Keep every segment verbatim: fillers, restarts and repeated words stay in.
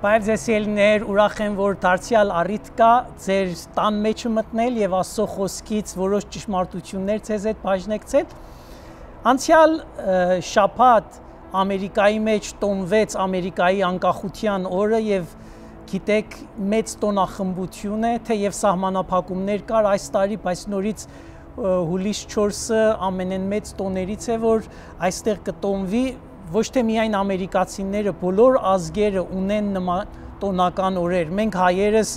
Բայց ես ելներ ուրախ եմ, որ դարձյալ առիթ կա ձեր տան մեջը մտնել եւ Աստծո խոսքից որոշ ճշմարտություններ ձեզ հետ բաժնեկցել։ Անցյալ շաբաթ Ամերիկայի մեջ տոնվեց Ամերիկայի անկախության օրը եւ գիտեք մեծ տոնախմբություն է, թեև սահմանափակումներ կար այս տարի, բայց նորից հուլիս չորսը ամենամեծ տոներից է, որ այստեղ կտոնվի ոչ թե միայն ամերիկացիները, բոլոր ազգերը ունեն նման տոնական օրեր։ Մենք հայերս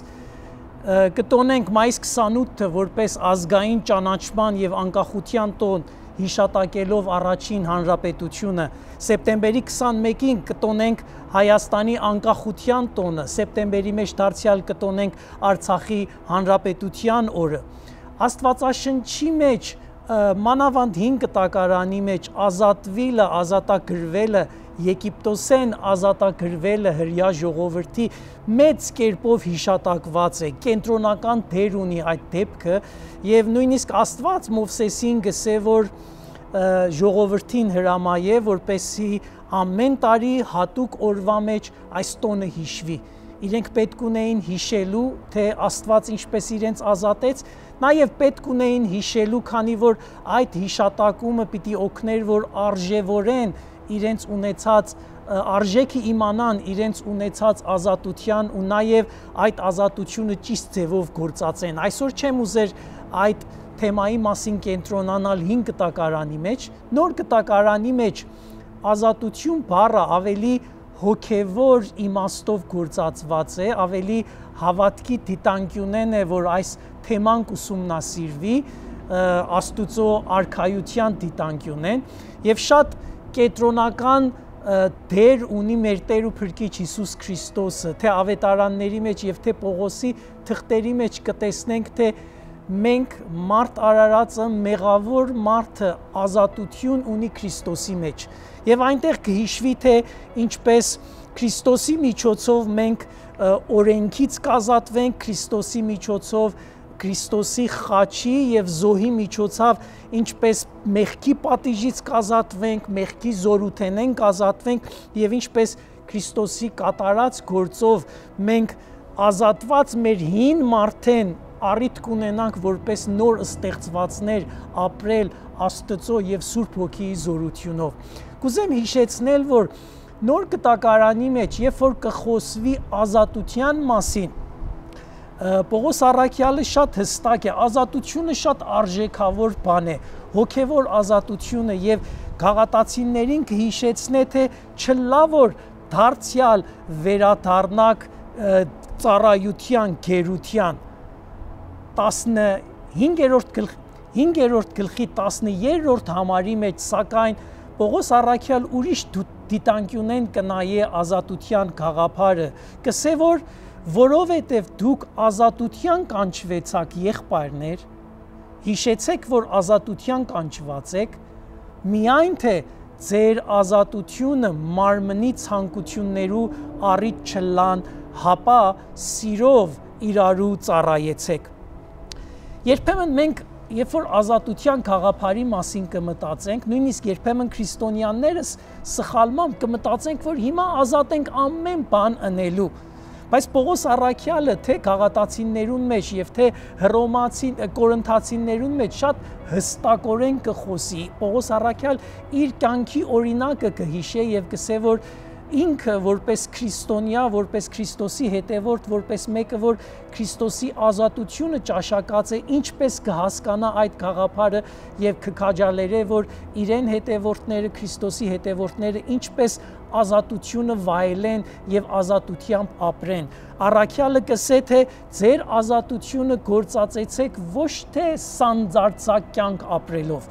կտոնենք մայիս քսանութը որպես ազգային ճանաչման եւ անկախության տոն, հիշատակելով առաջին հանրապետությունը։ Սեպտեմբերի քսանմեկին կտոնենք Հայաստանի անկախության տոնը, սեպտեմբերի մեջ դարձյալ կտոնենք Արցախի հանրապետության օրը։ Աստվածաշնչի մեջ մանավանդ հինգ տակարանի մեջ ազատվելը, ազատագրվելը, Եգիպտոսեն ազատագրվելը հրյա ժողովրդի մեծ կերպով հիշատակված է, կենտրոնական դեր ունի այդ դեպքը եւ նույնիսկ Աստված Մովսեսին գսե, որ ժողովրդին հրամայե, որպեսզի ամեն տարի հատուկ օրվա մեջ այս տոնը հիշվի։ Իրենք պետք ունեին հիշելու, թե Աստված ինչպես իրենց ազատեց, նաև պետք ունեին հիշելու, քանի որ այդ հիշատակումը պիտի օգներ, որ արժևորեն իրենց ունեցած արժեքը իմանան իրենց ունեցած ազատության ու նաև այդ ազատությունը ճիշտ ձևով գործածեն։ Այսօր չեմ ուզեր այդ թեմայի մասին կենտրոնանալ հինգ տակարանի մեջ, նոր տակարանի մեջ ազատություն բառը ավելի հոգևոր իմաստով գործածված է, ավելի հավատքի դիտանկյունեն է, որ այս թեման կուսումնասիրվի, Աստուծո արքայության դիտանկյունեն եւ շատ կենտրոնական դեր ունի մեր Տեր ու Փրկիչ Հիսուս Քրիստոսը, թե ավետարանների մեջ եւ թե Պողոսի թղթերի մեջ կտեսնենք, թե մենք մարդ արարածը մեղավոր մարդը ազատություն ունի Քրիստոսի մեջ եւ այնտեղ կհիշվի, թե ինչպես Քրիստոսի միջոցով մենք օրենքից կազատվենք, Քրիստոսի միջոցով Քրիստոսի խաչի եւ զոհի միջոցով ինչպես մեղքի պատիժից կազատվենք, մեղքի զորութենեն կազատվենք եւ ինչպես Քրիստոսի կատարած գործով մենք ազատված մեր հին մարդեն առիթ կունենանք որպես նոր ստեղծվածներ ապրել Աստծո եւ Սուրբ Հոգիի զորությունով։ Կուզեմ հիշեցնել, որ նոր կտակարանի մեջ, երբ որ կխոսվի ազատության մասին, Պողոս առաքյալը շատ հստակ է, ազատությունը շատ արժեքավոր բան է, հոգևոր ազատությունը եւ գաղատացիներին կհիշեցնե, թե չլա որ դարձյալ վերադառնակ ծառայության, գերության հինգերորդ գլխի տասներորդ համարի մեջ, սակայն Պողոս առաքյալ ուրիշ դիտանկյունեն կնայե ազատության գաղափարը, կսե որ որովհետև դուք ազատության կանչվեցաք եղբայրներ, հիշեցեք, որ ազատության կանչված եք, միայն թե ձեր ազատությունը մարմնի ցանկություններու առիթ չլան, հապա սիրով իրարու ծառայեցեք։ Երբեմն մենք, երբ որ ազատության գաղափարի մասին կմտածենք, նույնիսկ երբեմն քրիստոնյաներս սխալմամբ կմտածենք, որ հիմա ազատ ենք ամեն բան անելու։ Բայց Պողոս առաքյալը թե գաղատացիներուն մեջ եւ թե հռոմացի կորինթացիներուն մեջ շատ հստակորեն կխոսի։ Պողոս առաքյալ իր կյանքի օրինակը կհիշե եւ կսե, որ ինքը որպես քրիստոնյա, որպես Քրիստոսի հետևորդ, որպես մեկը, որ Քրիստոսի ազատությունը ճաշակած է, ինչպես կհասկանա այդ գաղափարը եւ կքաջալերե, որ իրեն հետևորդները, Քրիստոսի հետևորդները ինչպես ազատությունը վայելեն եւ ազատությամբ ապրեն։ Առաքյալը կսե, թե ձեր ազատությունը գործածեցեք ոչ թե սանձարձակ կյանք ապրելով։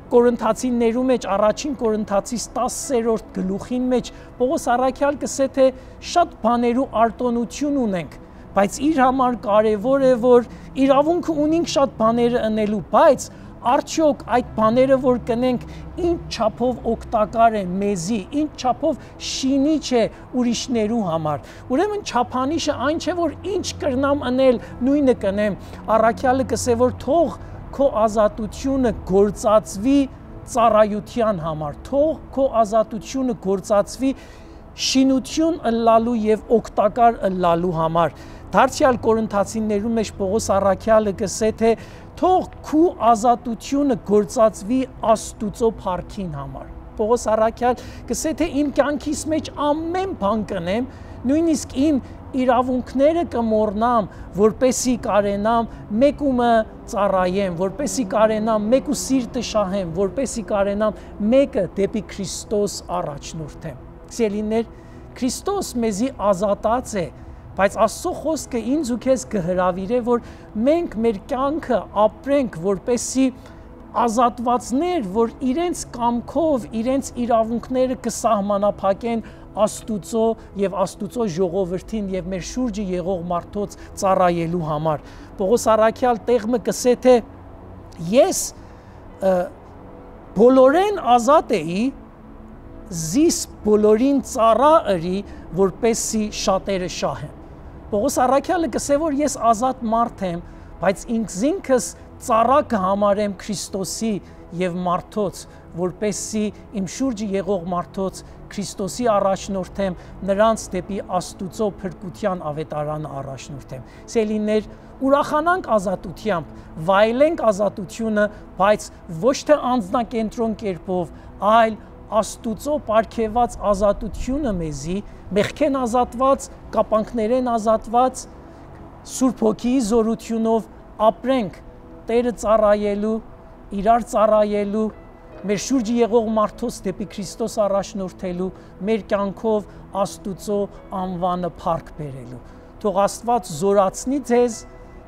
Կորինթացիներու մեջ առաջին Կորինթացիս տասերորդ գլուխին մեջ Պողոս առաքյալ կսե, թե շատ բաներու արտոնություն ունենք, բայց իր համար կարևոր է, որ իրավունքը ունենք շատ բաները անելու, բայց արդյոք այդ բաները, որ կնենք, ինչ չափով օգտակար է մեզի, ինչ չափով շինիչ է ուրիշներու համար։ Ուրեմն չափանիշը այն չէ, որ ինչ կրնամ անել, նույնը կնեմ։ Առաքյալը կսե, որ թող քո ազատությունը գործածվի ծառայության համար, թող քո ազատությունը գործածվի շինություն ըլլալու եւ օգտակար ըլլալու համար։ Դարձյալ Կորինթացիներու մեջ Պողոս առաքյալը գսե թե թող քու ազատությունը գործածվի Աստուծո փառքին համար։ Պողոս առաքյալ գսե թե իմ կյանքիս մեջ ամեն բան կնեմ, նույնիսկ իմ իրավունքները կմոռնամ, որպեսի կարենամ մեկումը ծառայեմ, որպեսի կարենամ մեկու սիրտը շահեմ, որպեսի կարենամ մեկը դեպի Քրիստոս առաջնորդեմ։ Սիրելիներ, Քրիստոս մեզի ազատած է, բայց Աստծո խոսքը ինձ ու քեզ կհրավիրե, որ մենք մեր կյանքը ապրենք, որպեսի ազատվածներ, որ իրենց կամքով, իրենց իրավունքները կսահմանափակեն Աստուծո եւ Աստուծո ժողովրդին եւ մեր շուրջը եղող մարդոց ծառայելու համար։ Պողոս առաքյալ տեղը կսե թե ես բոլորեն ազատ էի, զիս բոլորին ծառա ըրի, որպեսի շատերը շահեն։ Պողոս առաքյալը կսե որ ես ազատ մարդ եմ, բայց ինքզինքս ծառա կհամարեմ Քրիստոսի եւ մարդոց, որպեսի իմ շուրջը եղող մարդոց Քրիստոսի առաջնորդեմ, նրանց դեպի Աստուծո փրկության ավետարանը առաջնորդեմ։ Սիրելիներ, ուրախանանք ազատությամբ, վայելենք ազատությունը, բայց ոչ թե անձնակենտրոն կերպով, այլ Աստուծո պարգևած ազատությունը մեզի, մեղքեն ազատված, կապանքներեն ազատված, Սուրբ Հոգիի զորությունով ապրենք Տերը ծառայելու, իրար ծառայելու, մեր շուրջը եղող մարդոց դեպի Քրիստոս առաջնորդելու, մեր կյանքով Աստուծո անվանը փառք բերելու։ Թող Աստված զորացնի ձեզ,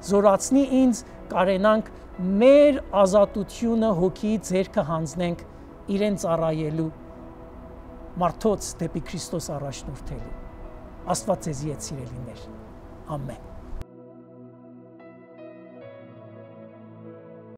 զորացնի ինձ, կարենանք մեր ազատությունը Հոգիի ձեռքը հանձնենք իրեն ծառայելու, մարդոց դեպի Քրիստոս առաջնորդելու։ Աստված ձեզի հետ սիրելիներ։ Ամեն։